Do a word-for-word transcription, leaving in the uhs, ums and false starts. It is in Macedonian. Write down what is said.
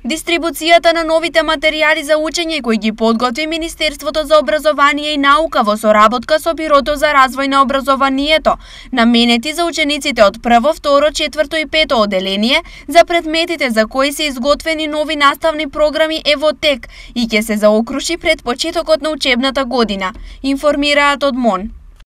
Дистрибуцијата на новите материјали за учење кои ги подготви Министерството за образование и наука во соработка со Бирото за развој на образованието, наменети за учениците од прво, второ, четврто и пето оделение за предметите за кои се изготвени нови наставни програми е во тек и ќе се заокруши пред почетокот на учебната година, информираат од МОН.